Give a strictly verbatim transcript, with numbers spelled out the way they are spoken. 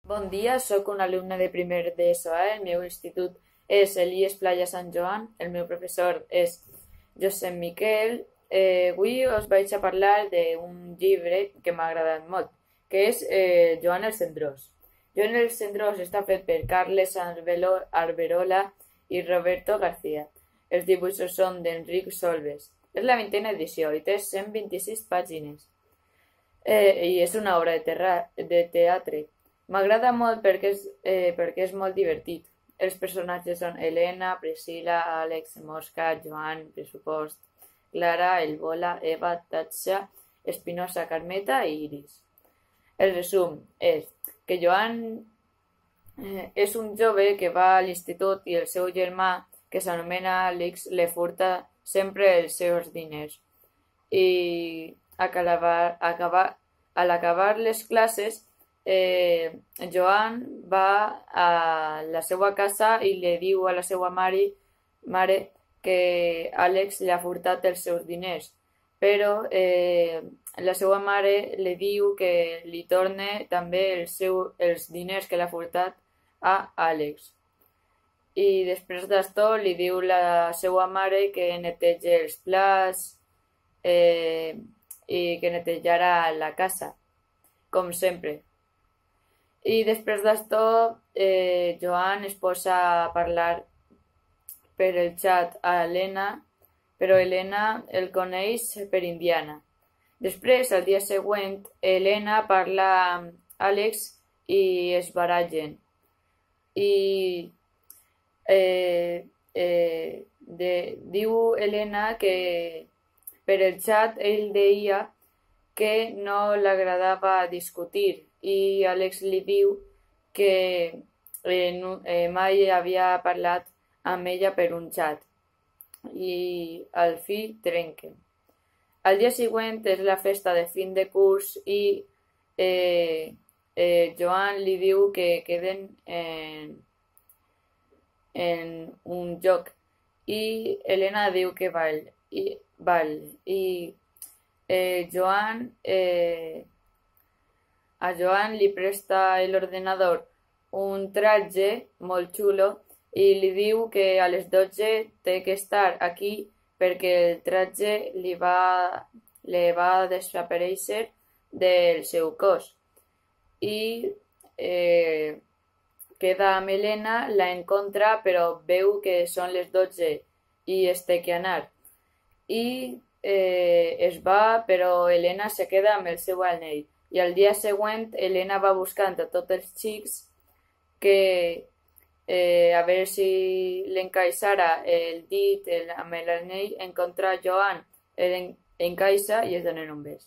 Bon dia, sóc un alumne de primer d'ESO A. El meu institut és Elies Playa Sant Joan. El meu professor és Josep Miquel. Eh, avui us vaig a parlar d'un llibre que m'ha agradat molt, que és eh, Joan el Cendrós. Joan el Cendrós està fet per Carles Arbelo, Arberola i Roberto García. Els dibuixos són d'Enric Solves. És la vintena edició i té cent vint-i-sis pàgines. Eh, I és una obra de, terra, de teatre. M'agrada molt perquè és, eh, perquè és molt divertit. Els personatges són Helena, Priscila, Àlex, Mosca, Joan, Pressupost, Clara, Elbola, Eva, Tatxa, Espinosa, Carmeta i Iris. El resum és que Joan eh, és un jove que va a l'institut i el seu germà, que s'anomena Àlex, li furta sempre els seus diners. I acabar, acabar, a l'acabar les classes, Eh, Joan va a la seva casa i li diu a la seva mare, mare que Àlex li ha furtat els seus diners, però eh, la seva mare li diu que li torne també el seu, els diners que l'ha furtat a Àlex. I després d'això li diu la seva mare que netegi els plats eh, i que netejarà la casa, com sempre. I després d'això, eh, Joan es posa a parlar per el xat a Helena, però Helena el coneix per Indiana. Després, al dia següent, Helena parla amb Àlex i es barallen. I eh, eh, de, diu Helena que per el xat ell deia que no l'agradava discutir, i Àlex li diu que eh, no, eh, mai havia parlat amb ella per un xat i al fi trenquen. Al dia següent és la festa de fin de curs i eh, eh, Joan li diu que queden en, en un joc i Helena diu que val i, val, i eh, Joan eh, a Joan li presta l'ordenador un tratge molt xulo i li diu que a les dotze té que estar aquí perquè el tratge li va, li va desaparèixer del seu cos. I eh, queda amb Helena, la encontra però veu que són les dotze i es té que anar. I eh, es va, però Helena se queda amb el seu anell. I al dia següent, Helena va buscant a tots els xics que eh, a veure si l'encaixara el dit el, amb l'anell, encontra Joan, l'encaixa i es donen un bes.